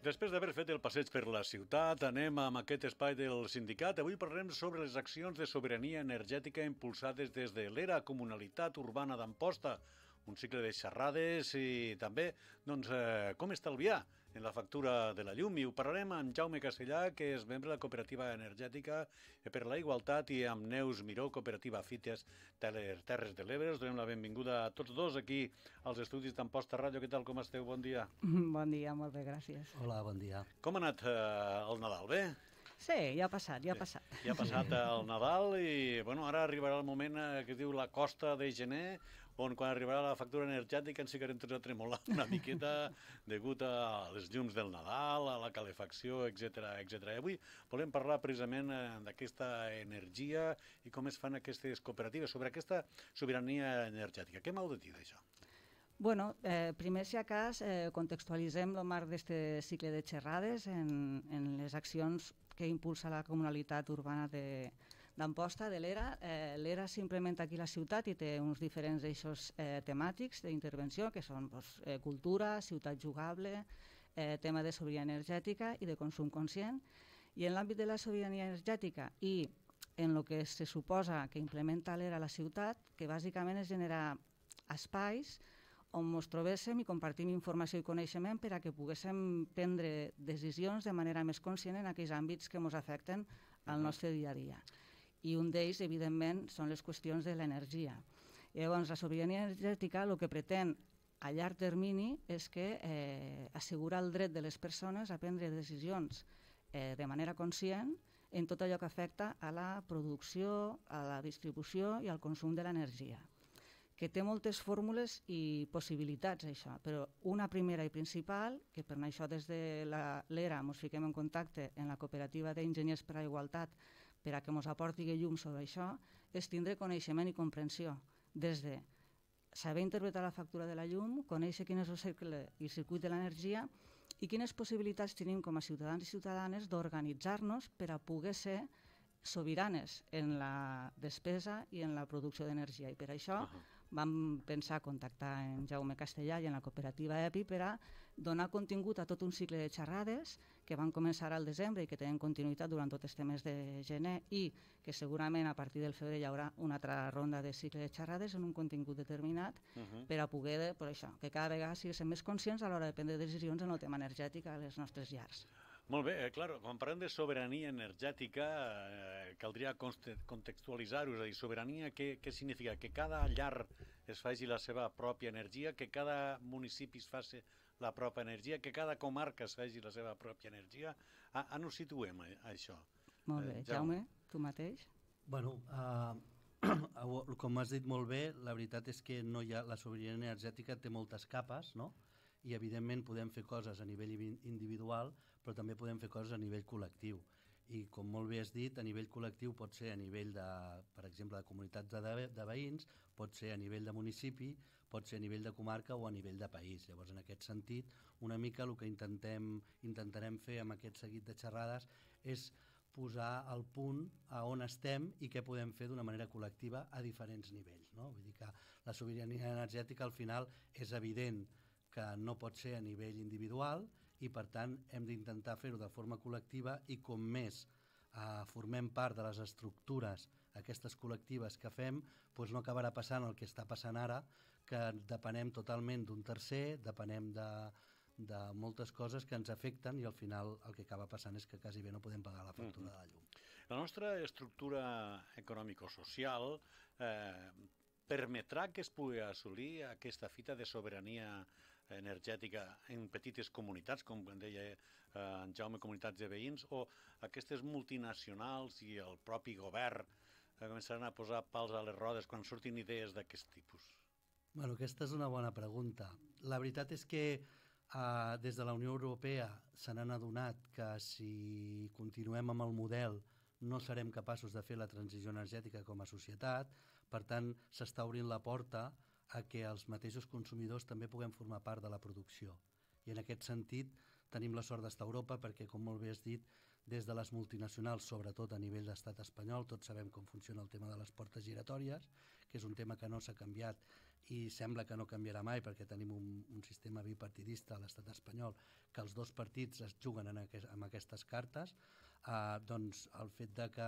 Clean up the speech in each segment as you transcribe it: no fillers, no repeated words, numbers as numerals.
Després d'haver fet el passeig per la ciutat, anem amb aquest espai del sindicat. Avui parlarem sobre les accions de sobirania energètica impulsades des de l'ERA, Comunalitat Urbana d'Amposta, un cicle de xerrades i també com estalviar en la factura de la llum. I ho parlarem amb Jaume Castellà, que és membre de la Cooperativa Energètica per la Igualtat, i amb Neus Miró, Cooperativa Fites de les Terres de l'Ebre. Us donem la benvinguda a tots dos aquí als estudis d'Amposta Ràdio. Què tal, com esteu? Bon dia. Bon dia, molt bé, gràcies. Hola, bon dia. Com ha anat el Nadal? Bé? Sí, ja ha passat. Ja ha passat el Nadal i ara arribarà el moment que es diu la costa de gener, on quan arribarà la factura energètica ens ficarem tots a tremolar una miqueta degut a les llums del Nadal, a la calefacció, etc. I avui volem parlar precisament d'aquesta energia i com es fan aquestes cooperatives, sobre aquesta sobirania energètica. Què m'heu de dir d'això? Bueno, primer, si a cas, contextualitzem el marc d'aquest cicle de xerrades en les accions que impulsa la Comunalitat Urbana d'Amposta, de l'ERA. L'ERA s'implementa aquí a la ciutat i té uns diferents eixos temàtics d'intervenció, que són cultura, ciutat jugable, tema de sobirania energètica i de consum conscient. I en l'àmbit de la sobirania energètica i en el que se suposa que implementa l'ERA a la ciutat, que bàsicament és generar espais on ens trobéssim i compartim informació i coneixement per a que poguéssim prendre decisions de manera més conscient en aquells àmbits que ens afecten al nostre dia a dia. I un d'ells, evidentment, són les qüestions de l'energia. Llavors, la sobirania energètica el que pretén a llarg termini és que assegurar el dret de les persones a prendre decisions de manera conscient en tot allò que afecta a la producció, a la distribució i al consum de l'energia, que té moltes fórmules i possibilitats, això, però una primera i principal, que per això des de l'ERA ens fiquem en contacte en la Cooperativa d'Enginyers per a la Igualtat per a que ens aporti llum sobre això, és tindre coneixement i comprensió, des de saber interpretar la factura de la llum, conèixer quin és el cercle i el circuit de l'energia i quines possibilitats tenim com a ciutadans i ciutadanes d'organitzar-nos per a poder ser sobiranes en la despesa i en la producció d'energia. I per això vam pensar contactar en Jaume Castellà i en la cooperativa EPI per a donar contingut a tot un cicle de xerrades que van començar al desembre i que tenen continuïtat durant tot este mes de gener i que segurament a partir del febrer hi haurà una altra ronda de cicle de xerrades en un contingut determinat per a poder, per això, que cada vegada siguem més conscients a l'hora de prendre decisions en el tema energètic a les nostres llars. Molt bé, clar, quan parlem de sobirania energètica caldria contextualitzar-ho, és a dir, sobirania què significa? Que cada llar es faci la seva pròpia energia, que cada municipi es faci la pròpia energia, que cada comarca es faci la seva pròpia energia. On ho situem, això? Molt bé. Jaume, tu mateix? Bueno, com has dit molt bé, la veritat és que no hi ha, la sobirania energètica té moltes capes, no? I evidentment podem fer coses a nivell individual, però també podem fer coses a nivell col·lectiu. I com molt bé has dit, a nivell col·lectiu pot ser a nivell de, per exemple, de comunitats de veïns, pot ser a nivell de municipi, pot ser a nivell de comarca o a nivell de país. Llavors, en aquest sentit, una mica el que intentarem fer amb aquest seguit de xerrades és posar al punt a on estem i què podem fer d'una manera col·lectiva a diferents nivells, no? Vull dir que la sobirania energètica al final és evident que no pot ser a nivell individual i, per tant, hem d'intentar fer-ho de forma col·lectiva i com més formem part de les estructures aquestes col·lectives que fem, doncs no acabarà passant el que està passant ara, que depenem totalment d'un tercer, depenem de moltes coses que ens afecten i al final el que acaba passant és que quasi bé no podem pagar la factura de la llum. La nostra estructura econòmico-social permetrà que es pugui assolir aquesta fita de sobirania energètica en petites comunitats, com deia en Jaume, comunitats de veïns, o aquestes multinacionals i el propi govern començaran a posar pals a les rodes quan surtin idees d'aquest tipus? Bueno, aquesta és una bona pregunta. La veritat és que des de la Unió Europea se n'han adonat que si continuem amb el model no serem capaços de fer la transició energètica com a societat, per tant s'està obrint la porta a que els mateixos consumidors també puguem formar part de la producció. I en aquest sentit tenim la sort d'estar a Europa perquè, com molt bé has dit, des de les multinacionals, sobretot a nivell d'estat espanyol. Tots sabem com funciona el tema de les portes giratòries, que és un tema que no s'ha canviat i sembla que no canviarà mai perquè tenim un sistema bipartidista a l'estat espanyol, que els dos partits es juguen amb aquestes cartes. Doncs el fet de que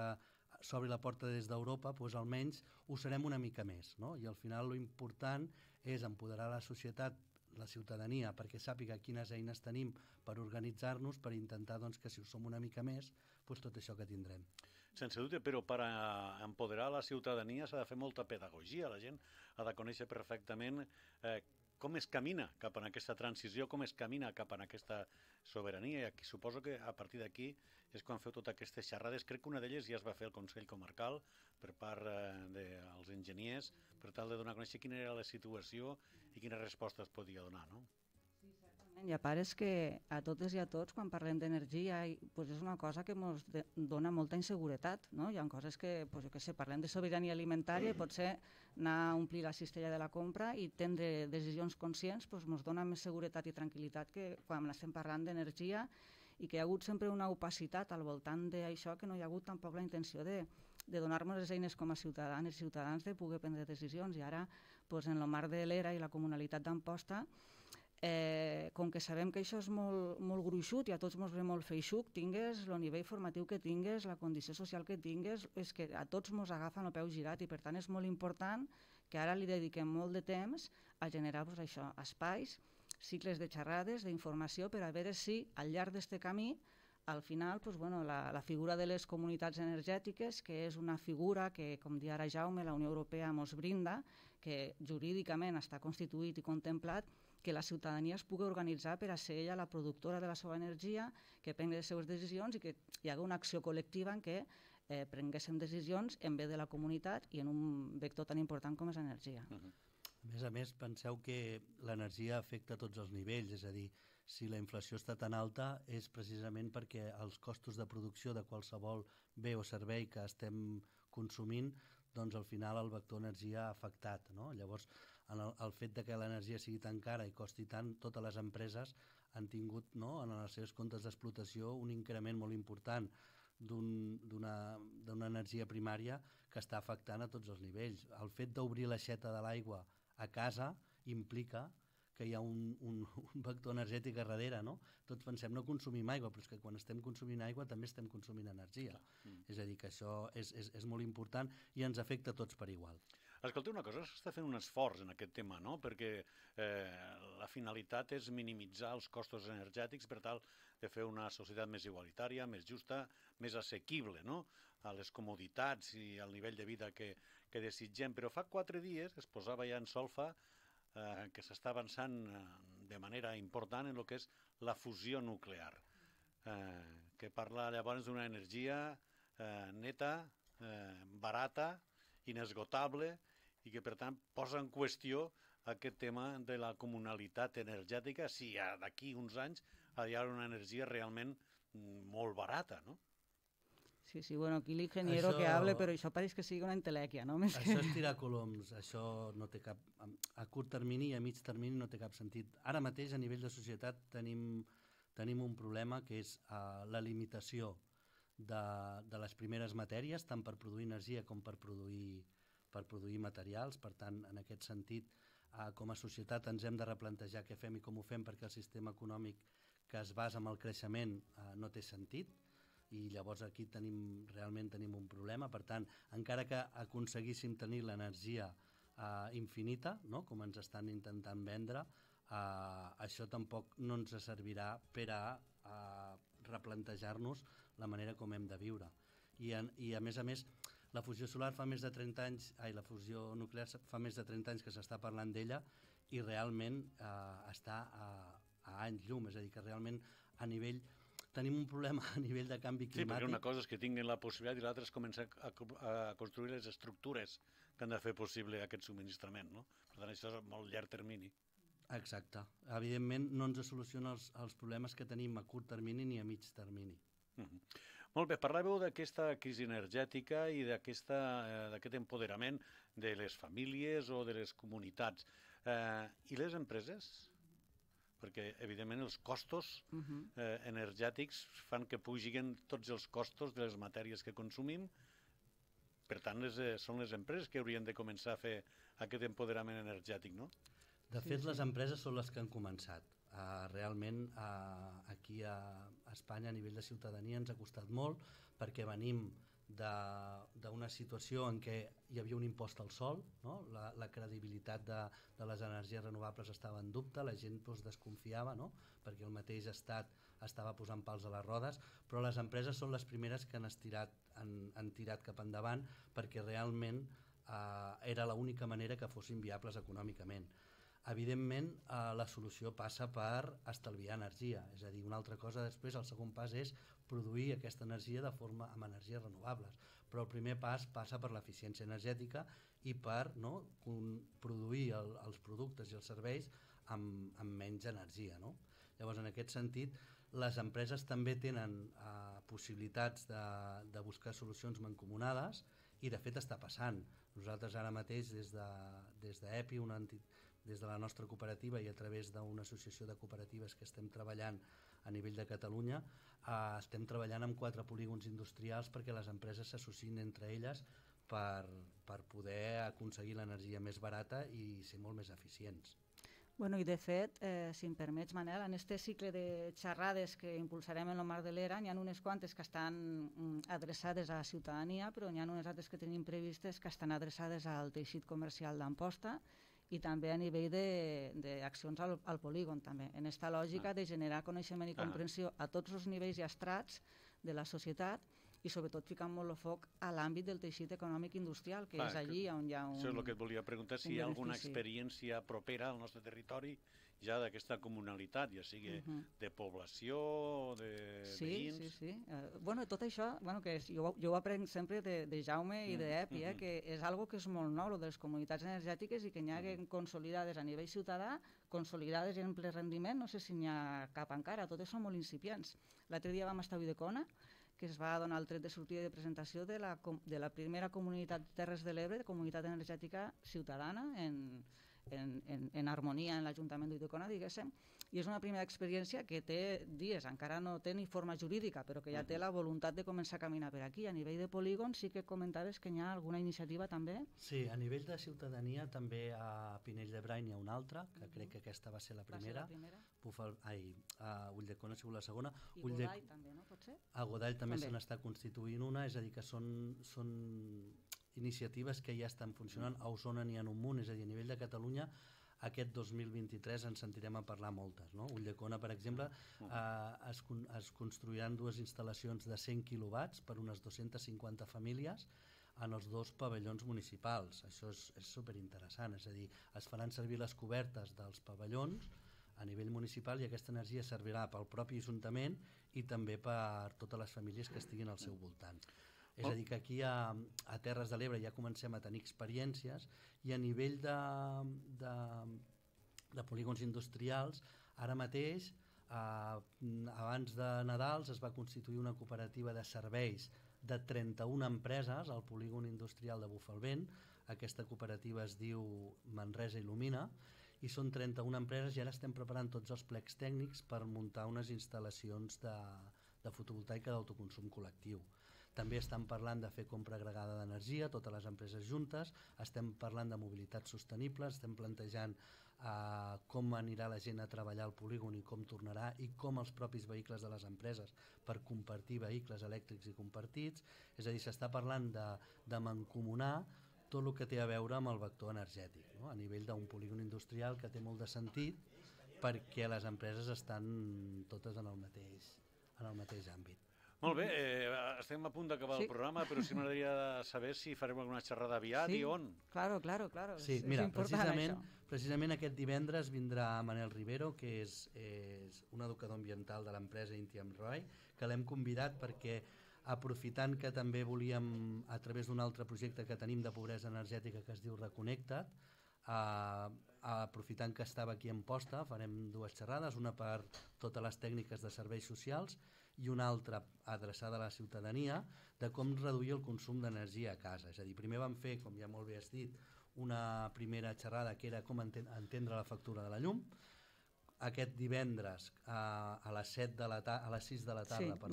s'obri la porta des d'Europa, doncs almenys ho serem una mica més, no? I al final lo important és empoderar la societat, la ciutadania, perquè sàpiga quines eines tenim per organitzar-nos, per intentar doncs, que si ho som una mica més, doncs tot això que tindrem. Sense dubte, però per empoderar la ciutadania s'ha de fer molta pedagogia. La gent ha de conèixer perfectament com es camina cap a aquesta transició, com es camina cap a aquesta sobirania. I aquí suposo que a partir d'aquí és quan feu totes aquestes xerrades. Crec que una d'elles ja es va fer al Consell Comarcal per part dels enginyers per tal de donar a conèixer quina era la situació i quina resposta es podia donar, no? I a part és que a totes i a tots, quan parlem d'energia, és una cosa que ens dona molta inseguretat, no? Hi ha coses que, jo què sé, parlem de sobirania alimentària i potser anar a omplir la cistella de la compra i prendre decisions conscients ens dona més seguretat i tranquil·litat que quan estem parlant d'energia i que hi ha hagut sempre una opacitat al voltant d'això, que no hi ha hagut tampoc la intenció de donar-nos les eines com a ciutadanes i ciutadans de poder prendre decisions. I ara, en el marc de l'ERA i la Comunalitat d'Amposta, com que sabem que això és molt gruixut i a tots ens ve molt feixuc, tingues el nivell formatiu que tingues, la condició social que tingues, és que a tots ens agafen el peu girat i per tant és molt important que ara li dediquem molt de temps a generar això, espais, cicles de xerrades, d'informació, per a veure si al llarg d'aquest camí al final la figura de les comunitats energètiques, que és una figura que, com deia ara Jaume, la Unió Europea ens brinda, que jurídicament està constituït i contemplat, que la ciutadania es pugui organitzar per a ser ella la productora de la seva energia, que prengui les seves decisions i que hi hagi una acció col·lectiva en què prenguéssim decisions en bé de la comunitat i en un vector tan important com és l'energia. A més, penseu que l'energia afecta a tots els nivells, és a dir, si la inflació està tan alta és precisament perquè els costos de producció de qualsevol bé o servei que estem consumint, doncs al final el vector energia ha afectat, no? Llavors, el fet de que l'energia sigui tan cara i costi tant, totes les empreses han tingut en els seus comptes d'explotació un increment molt important d'una energia primària que està afectant a tots els nivells. El fet d'obrir l'aixeta de l'aigua a casa implica que hi ha un vector energètic a darrere, no? Tots pensem no consumim aigua, però és que quan estem consumint aigua també estem consumint energia. És a dir, que això és molt important i ens afecta a tots per igual. Escolta, una cosa, s'està fent un esforç en aquest tema, no? Perquè la finalitat és minimitzar els costos energètics per tal de fer una societat més igualitària, més justa, més assequible, no? A les comoditats i al nivell de vida que desitgem. Però fa 4 dies es posava ja en solfa que s'està avançant de manera important en el que és la fusió nuclear, que parla llavors d'una energia neta, barata, inesgotable, i que per tant posa en qüestió aquest tema de la comunalitat energètica si d'aquí uns anys hi ha una energia realment molt barata, no? Sí, aquí l'ingeniero que hable, però això pareix que sigui una entelèquia, no? Això és tirar coloms, això no té cap... A curt termini i a mig termini no té cap sentit. Ara mateix, a nivell de societat, tenim un problema que és la limitació de les primeres matèries, tant per produir energia com per produir materials. Per tant, en aquest sentit, com a societat ens hem de replantejar què fem i com ho fem perquè el sistema econòmic que es basa en el creixement no té sentit, i llavors aquí realment tenim un problema. Per tant, encara que aconseguíssim tenir l'energia infinita, no? Com ens estan intentant vendre, això tampoc no ens servirà per a replantejar-nos la manera com hem de viure. I a més, la fusió solar fa més de 30 anys, la fusió nuclear fa més de 30 anys que s'està parlant d'ella i realment està a anys llum, és a dir, que realment a nivell... Tenim un problema a nivell de canvi climàtic. Sí, perquè una cosa és que tinguin la possibilitat i l'altra és començar a construir les estructures que han de fer possible aquest subministrament, no? Per tant, això és a molt llarg termini. Exacte. Evidentment, no ens soluciona els problemes que tenim a curt termini ni a mig termini. Molt bé, parlàveu d'aquesta crisi energètica i d'aquest empoderament de les famílies o de les comunitats. I les empreses? perquè evidentment els costos energètics fan que pugin tots els costos de les matèries que consumim. Per tant, són les empreses que haurien de començar a fer aquest empoderament energètic, no? De fet, les empreses són les que han començat. Realment, aquí a Espanya, a nivell de ciutadania, ens ha costat molt, perquè venim d'una situació en què hi havia un impost al sol, no? La credibilitat de les energies renovables estava en dubte, la gent desconfiava, no? Perquè el mateix estat estava posant pals a les rodes, però les empreses són les primeres que han tirat cap endavant, perquè realment era l'única manera que fossin viables econòmicament. Evidentment, la solució passa per estalviar energia, és a dir, una altra cosa després, el segon pas és produir aquesta energia amb energies renovables, però el primer pas passa per l'eficiència energètica i per produir els productes i els serveis amb menys energia, no? Llavors, en aquest sentit, les empreses també tenen possibilitats de buscar solucions mancomunades i de fet està passant. Nosaltres ara mateix des d'EPI, des de la nostra cooperativa i a través d'una associació de cooperatives que estem treballant a nivell de Catalunya, estem treballant amb 4 polígons industrials perquè les empreses s'associïn entre elles per poder aconseguir l'energia més barata i ser molt més eficients. Bueno, i de fet, si em permets, Manel, en aquest cicle de xerrades que impulsarem en el marc de l'ERA, n'hi ha unes quantes que estan adreçades a la ciutadania, però n'hi ha unes altres que tenim previstes que estan adreçades al teixit comercial d'Amposta i també a nivell d'accions al polígon, també, en aquesta lògica de generar coneixement i comprensió a tots els nivells i estrats de la societat i sobretot ficant molt el foc a l'àmbit del teixit econòmic industrial, que és allí on hi ha un... Això és el que et volia preguntar, si hi ha alguna experiència propera al nostre territori ja d'aquesta comunalitat, ja sigui de població, de veïns... Sí. Bueno, tot això, que jo ho aprenc sempre de Jaume i d'EPI, que és algo que és molt nou, de les comunitats energètiques i que n'hi ha consolidades a nivell ciutadà, consolidades en ple rendiment, no sé si n'hi ha cap encara, totes són molt incipients. L'altre dia vam estar a Ulldecona, que es va donar el tret de sortida de presentació de la primera comunitat de Terres de l'Ebre, de comunitat energètica ciutadana, en harmonia en l'Ajuntament d'Ulldecona, diguéssim, i és una primera experiència que té dies, encara no té ni forma jurídica, però que ja té la voluntat de començar a caminar per aquí. A nivell de polígon sí que comentaves que hi ha alguna iniciativa també? Sí, a nivell de ciutadania també a Pinell de Brai n'hi ha una altra, que crec que aquesta va ser la primera. A Ulldecona ha sigut la segona. I Godall també, no? Pot ser? A Godall també se n'està constituint una, és a dir, que són iniciatives que ja estan funcionant. A Osona n'hi ha un munt, és a dir, a nivell de Catalunya aquest 2023 ens sentirem a parlar moltes, no? Ulldecona, per exemple, es construiran 2 instal·lacions de 100 quilowatts per unes 250 famílies en els 2 pavellons municipals. Això és superinteressant, és a dir, es faran servir les cobertes dels pavellons a nivell municipal i aquesta energia servirà pel propi Ajuntament i també per totes les famílies que estiguin al seu voltant. És a dir, que aquí a Terres de l'Ebre ja comencem a tenir experiències i a nivell de polígons industrials, ara mateix, abans de Nadals, es va constituir una cooperativa de serveis de 31 empreses al polígon industrial de Bufalvent. Aquesta cooperativa es diu Manresa Il·lumina i són 31 empreses i ara estem preparant tots els plecs tècnics per muntar unes instal·lacions de fotovoltaica d'autoconsum col·lectiu. També estem parlant de fer compra agregada d'energia, totes les empreses juntes, estem parlant de mobilitat sostenible, estem plantejant com anirà la gent a treballar al polígon i com tornarà i com els propis vehicles de les empreses per compartir vehicles elèctrics i compartits. És a dir, s'està parlant de mancomunar tot el que té a veure amb el vector energètic, no? A nivell d'un polígon industrial que té molt de sentit perquè les empreses estan totes en el mateix àmbit. Molt bé, estem a punt d'acabar el programa, però sí m'agradaria saber si farem alguna xerrada aviat i on. Claro. Sí, mira, precisament aquest divendres vindrà Manel Rivero, que és un educador ambiental de l'empresa Intiam Roy, que l'hem convidat perquè, aprofitant que també volíem, a través d'un altre projecte que tenim de pobresa energètica que es diu Reconnecta't, aprofitant que estava aquí a Amposta, farem 2 xerrades, una per totes les tècniques de serveis socials i una altra adreçada a la ciutadania de com reduir el consum d'energia a casa. És a dir, primer vam fer, com ja molt bé has dit, una primera xerrada que era com entendre la factura de la llum. aquest divendres a les 6 de la tarda, sí,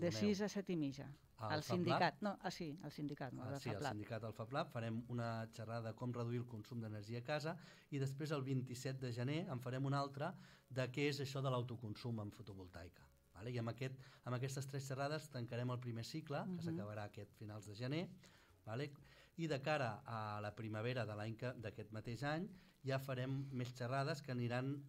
de 6 a 7 i mitja. Al sindicat, no, sí, al sindicat, no, sí, al sindicat del FabLab farem una xerrada de com reduir el consum d'energia a casa i després el 27 de gener en farem una altra de què és això de l'autoconsum en fotovoltaica. Vale? I amb aquestes 3 xerrades tancarem el primer cicle, que s'acabarà aquest finals de gener, vale? I de cara a la primavera d'aquest mateix any ja farem més xerrades que aniran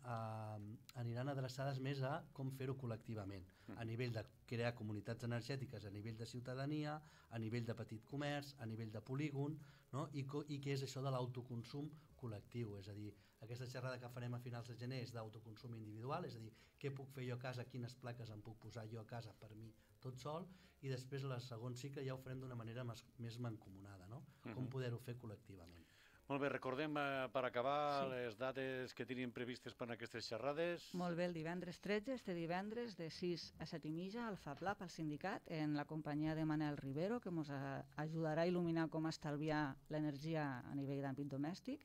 adreçades més a com fer-ho col·lectivament, a nivell de crear comunitats energètiques, a nivell de ciutadania, a nivell de petit comerç, a nivell de polígon, no? I què és això de l'autoconsum col·lectiu, és a dir, aquesta xerrada que farem a finals de gener és d'autoconsum individual, és a dir, què puc fer jo a casa, quines plaques em puc posar jo a casa per mi tot sol, i després el segon cicle ja ho farem d'una manera més mancomunada, no? Com poder-ho fer col·lectivament. Molt bé, recordem per acabar les dates que tenim previstes per a aquestes xerrades. Molt bé, el divendres 13, este divendres de 6 a 7 i mitja al FabLab, al sindicat, en la companyia de Manel Rivero, que ens ajudarà a il·luminar com estalviar l'energia a nivell d'àmbit domèstic,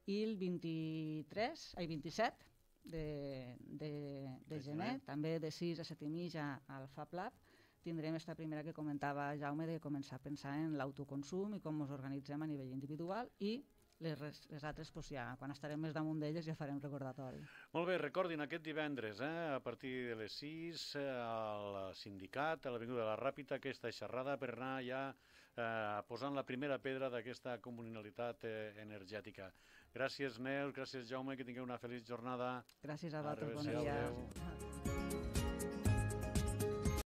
i el 27 de gener, també de 6 a 7 i mitja al FabLab, tindrem esta primera que comentava Jaume de començar a pensar en l'autoconsum i com ens organitzem a nivell individual, i les altres, ja, quan estarem més damunt d'elles, ja farem recordatori. Molt bé, recordin aquest divendres, a partir de les 6, al sindicat, a l'Avinguda de la Ràpita, aquesta xerrada per anar ja posant la primera pedra d'aquesta comunalitat energètica. Gràcies, Neus, gràcies, Jaume, que tingueu una feliç jornada. Gràcies a vosaltres, bon dia.